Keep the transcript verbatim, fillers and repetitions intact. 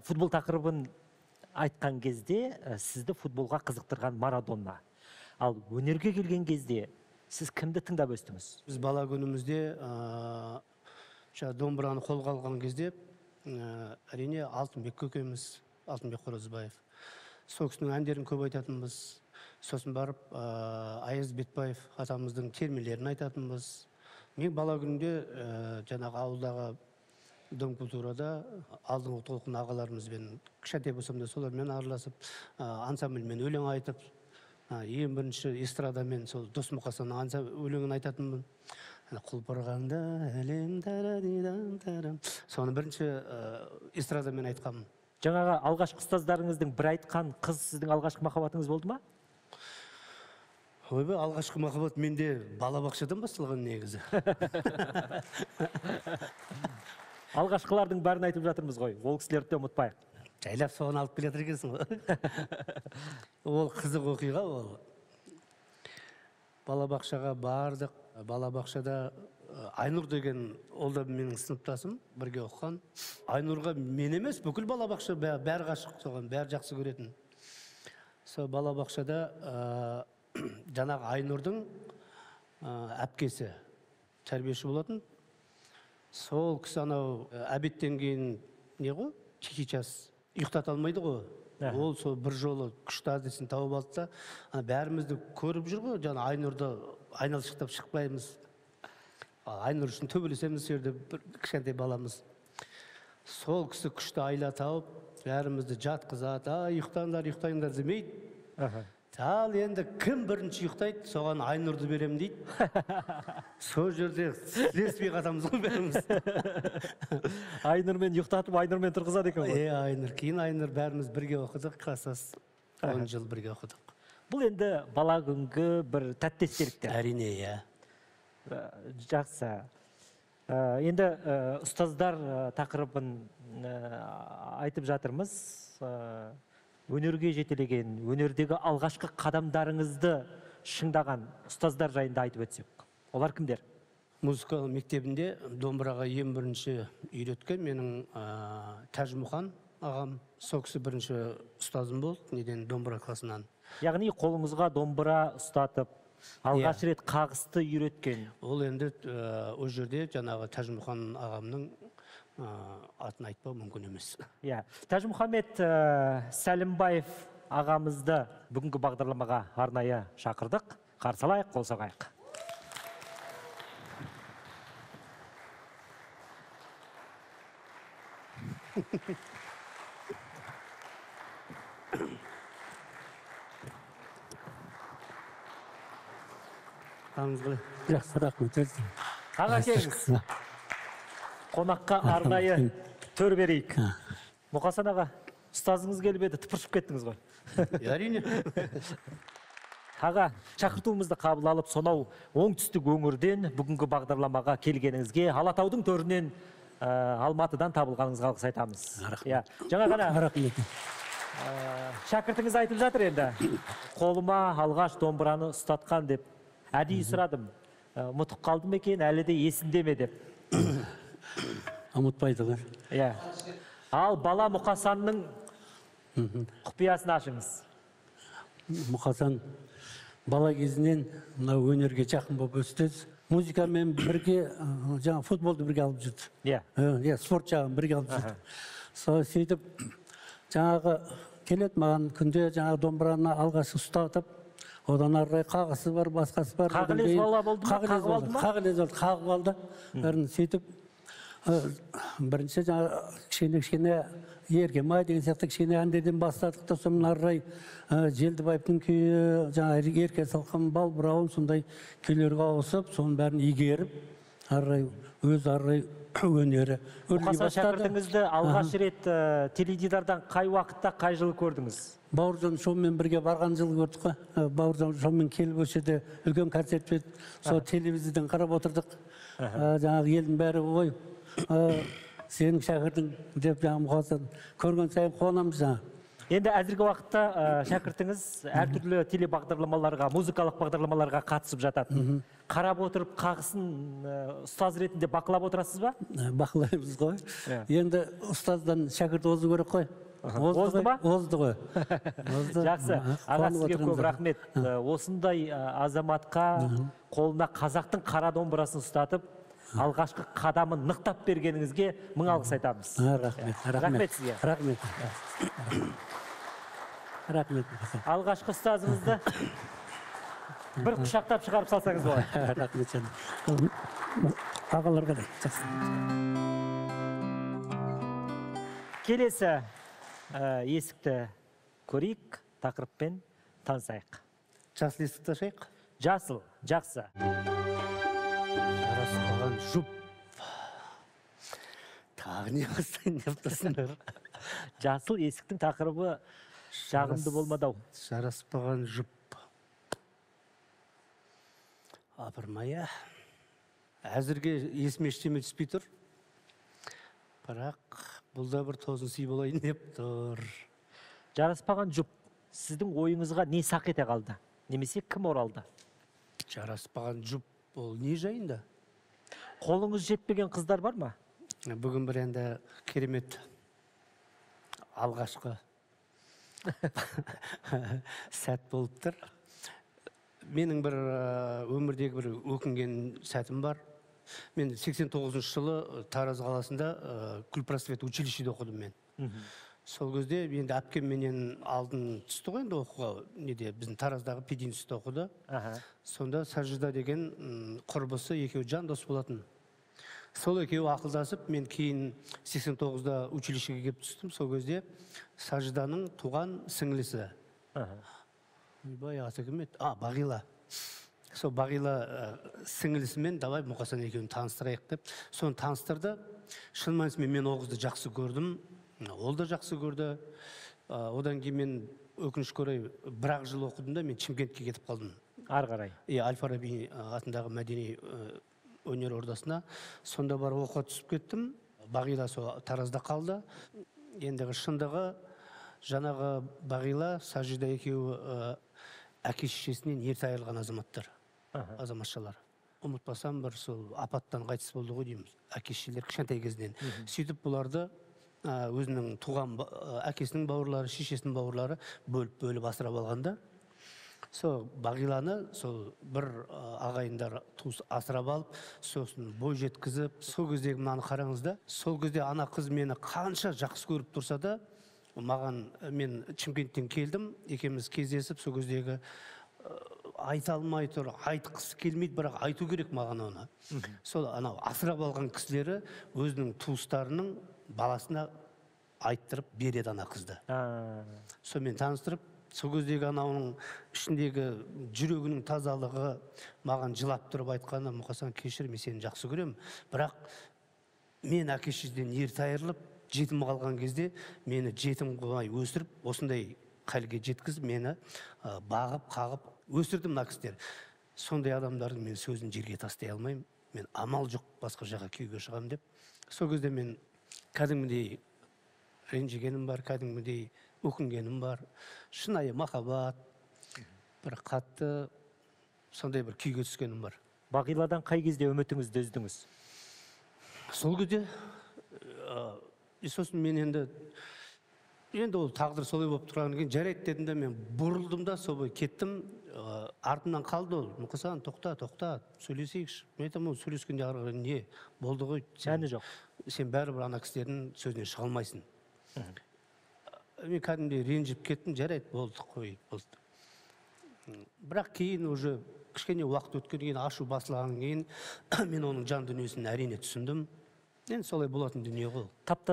Футбол тақырыбын айтқан кезде сізді футболға қызықтырған Марадона. Ал өнерге келген кезде сіз кімді тыңдап өстіңіз? Біз бала күнімізде домбыраны қолға алған кезде әрине Алтынбек көкеміз, Алтынбек Қоразбаев. Сол кісінің әндерін көп айтатынбыз. Сосын барып Аяз Бетбаев атамыздың термелерін айтатынбыз. Мен бала күнінде жаңағы ауылдағы дом культурада алдыңғы толқын ағаларымызбен кішкентай болсам да солармен араласып, ансамбльмен өлең айтып, ең бірінші эстрадамен сол Дос Мұқасанның өлеңін айтатынмын. Құлпырғанда әлем тарадидан тарам. Соны бірінші эстрадамен айтқанмын. Жаңағы алғашқы ұстаздарыңыздың бір айтқан қыз сіздің алғашқы махаббатыңыз болды ма? Ойбай, алғашқы махаббат менде балабақшадан басталған негізі. Алғашқылардың бәрін айтып жатырмыз ғой, ол кісілерді де ұмытпайық. Жайлап соған алып келетір екенсің ғой. Ол қызық оқиға ол. Балабақшаға бардық. Балабақшада Айнұр деген, ол да менің сыныптасым, бірге оқыған. Айнұрға мен емес, бүкіл балабақша бәрі ғашық соған, бәрі жақсы көретін. Сол балабақшада жаңағы Айнұрдың әпкесі тәрбиеші болатын. Сол кісі анау әбеттен кейін не ғой? Чехичас. Ұйықтата алмайды ғой. Ол сол бір жолы күшті әдісін тауып алды да, бәрімізді көріп жүр ғой, жаңа Айнұрды айналшықтап шықпаймыз. Айнұр үшін төбелесеміз жерде кішкентай баламыз. Сол кісі күшті айла тауып, бәрімізді жатқызады, ұйықтаңдар, ұйықтаңдар демейді. Ал енді кім бірінші ұйықтайды, соған Айнұрды берем дейді. Сол жерде сілеспей қатамыз ғой бәріміз. Айнұрмен ұйықтатып, Айнұрмен тұрғызады екен ғой. Е, Айнұр. Кейін Айнұр бәріміз бірге оқыдық, класстас он жыл бірге оқыдық. Бұл енді бала күнгі бір тәтті естеліктер. Әрине, иә. Жақсы. Енді ұстаздар тақырыбын айтып жатырмыз. Өнерге жетелеген, өнердегі алғашқы қадамдарыңызды шыңдаған ұстаздар жайында айтып өтсек. Олар кімдер? Музыка мектебінде домбыраға ең бірінші үйреткен менің Тәжмұхан ағам. Сол кісі бірінші ұстазым болды, неден домбыра класынан. Яғни қолыңызға домбыра ұстатып, алғаш рет қағысты үйреткен. Ол енді о жерде жаңағы Тәжмұхан ағамның атын айтпау мүмкін емес. Тәжмұхамед Сәлімбаев ағамызды бүгінгі бағдарламаға арнайы шақырдық. Қарсы алайық, қол соғайық. Жақсы, рахмет. Аға келіңіз. Қонаққа арнайы төр берейік. Мұқасан аға, ұстазыңыз келіп еді, тыпыршып кеттіңіз ғой. Әрине. Аға, шақыртуымызды қабыл алып, сонау оңтүстік өңірден бүгінгі бағдарламаға келгеніңізге, Алатаудың төрінен Алматыдан табылғаныңызға алғыс айтамыз. Жаңа ғана шәкіртіңіз айтып жатыр енді. Қолыма алғаш домбыраны ұстатқан деп әдейі сұрадым. Ұмытып қалдым екен, әлі де есінде ме деп. Ұмытпайды ғой. Ал бала Мұқасанның құпиясын ашыңыз. Мұқасан бала кезінен өнерге жақын болып өсті. Музыкамен бірге, жаңа футболды бірге алып жүрді. Спорт жағын бірге алып жүрді. Сөйтіп, жаңағы келеді маған күнде жаңағы домбыраны алғаш ұстатып, одан арай қағысы бар, басқасы бар. Қағылез бала болды ма? Қағып алды ма? Қағылез болды, қағып алды. Бәрін сөйтіп, бірінші жаңа кішкене-кішкене Ергемай деген сияқты кішкене әндерден бастадық та, соның арай Желдібаевтың күйі, жаңа Ерке Салқын, Бал Бұрауын сондай күйлерге ауысып, соның бәрін игеріп, арай өз арай өнері өрлей бастады. Мұқасан шәкіртіңізді алғаш рет теледидардан қай уақытта, қай жылы көрдіңіз? Бауыржан Шоумен бірге барған жылы көрдік қой. Бауыржан Шоумен келіп өшеді, үлкен концерт өтті. Сол телевизиядан қарап отырдық. Жаңағы елдің бәрі ой, сенің шәкіртің деп жаңағы Мұқасан көрген сайын қуанамыз жаңа. Енді әзіргі уақытта шәкіртіңіз әртүрлі телебағдарламаларға, музыкалық бағдарламаларға қатысып жатады. Қарап отырып, қағысын ұстаз ретінде бақылап отырасыз ба? Бақылаймыз ғой. Енді ұстаздан шәкірт озу керек қой. Озды ба? Озды ғой. Жақсы. Аға, сізге көп рахмет. Осындай азаматқа қолына қазақтың қара домбырасын ұстатып, алғашқы қадамын нықтап бергеніңізге мың алғыс айтамыз. Рахмет. Рахмет сізге. Рахмет. Рахмет. Алғашқы ұстазыңызды бір құшақтап шығарып салсаңыз болады. Рахмет жаным. Ағаларға да. Келесі есікті көрейік, тақырыппен танысайық. Жасыл есікті ашайық. Жасыл, жақсы. Жараспаған жұп. Тағы не бастайын деп тұрсыңдар. Жасыл есіктің тақырыбы жағымды болмадау. Жараспаған жұп. Апырмая. Әзірге есіме ештеме түспей тұр. Бірақ бұл да бір тосын сый болайын деп тұр. Жараспаған жұп, сіздің ойыңызға не сақ ете қалды? Немесе кім оралды? Жараспаған жұп, ол не жайында? Қолыңыз жетпеген қыздар бар ма? Бүгін бір енді керемет алғашқы сәт болып тұр. Менің бір өмірдегі бір өкінген сәтім бар. Мен сексен тоғызыншы жылы Тараз қаласында Гүлпросвет училищеде оқыдым мен. Сол кезде енді әпкемменен алдын түсті ғой енді оқуға, неде біздің Тараздағы пединститутта оқыды. Сонда Сажида деген құрбысы екеуі жандос болатын. Сол екеуі ақылдасып, мен кейін сексен тоғызда училищеге келіп түстім. Сол кезде Сажиданың туған сіңлісі. Бай аты кім еді? А, Бағила. Сол Бағила сіңлісімен давай Мұқасан екеуін таныстырайық деп. Соны таныстырды. Шын мәнісімен мен ол қызды жақсы көрдім. Ол да жақсы көрді. Одан кейін мен өкінішке орай бір-ақ жыл оқыдым да мен Шымкентке кетіп қалдым. Ары қарай. Иә, Әл-Фараби атындағы мәдени өнер ордасына. Сонда бар оқуға түсіп кеттім. Бағила сол Таразда қалды. Ендігі шындығы жаңағы Бағила, Сажида екеуі әке шешесінен ерте айырылған азаматтар, азаматшалар. Ұмытпасам бір сол апаттан қайтыс болды ғой дейміз. Әке шешелер кішкентай кезінен. Сөйтіп бұларды өзінің туған әкесінің бауырлары, шешесінің бауырлары бөліп-бөліп асырап алғанда, сол Бағиланы сол бір ағайындар туыс асырап алып, сосын бой жеткізіп, сол кездегі мынаны қараңыз да, сол кезде ана қыз мені қанша жақсы көріп тұрса да, маған, мен Шымкенттен келдім, екеуміз кездесіп, сол кездегі айта алмай тұр, айтқысы келмейді, бірақ айту керек маған оны. Сол анау асырап алған кісілері өзінің туыстарының баласына айттырып береді ана қызды. Сонымен таныстырып, сол кездегі анауының ішіндегі жүрегінің тазалығы маған жылап тұрып айтқаны, Мұқасан, кешір, мен сені жақсы көремін, бірақ мен әке шешеден ерте айырылып, жетім қалған кезде мені жетім қылмай өсіріп, осындай халге жеткізіп, мені бағып, қағып өсірдім мына кісілер. Сондай адамдардың мен сөзін жерге тастай алмаймын. Мен амал жоқ басқа жаққа күйеуге шығамын деп. Сол кезде мен кәдімгідей ренжігенім бар, кәдімгідей өкінгенім бар. Шынайы махаббат, бір қатты сондай бір күйге түскенім бар. Бағиладан қай кезде үмітіңізді үздіңіз? Сол кезде сосын мен енді енді ол тағдыр солай болып тұрғаннан кейін жарайды дедім де, мен бұрылдым да солай кеттім. Артымнан қалды ол. Мұқасан, тоқта, тоқта, сөйлесейікші. Мен айтамын, ол сөйлескенде ары қарай не болды ғой? Мәні жоқ. Сен бәрібір ана кісілердің сөзінен шыға алмайсың. Мен кәдімгідей ренжіп кеттім, жарайды, болды, қой, болды. Бірақ кейін уже кішкене уақыт өткеннен кейін, ашу басылғаннан кейін мен оның жан дүниесін әрине түсіндім. Енді солай болатын дүние ғой.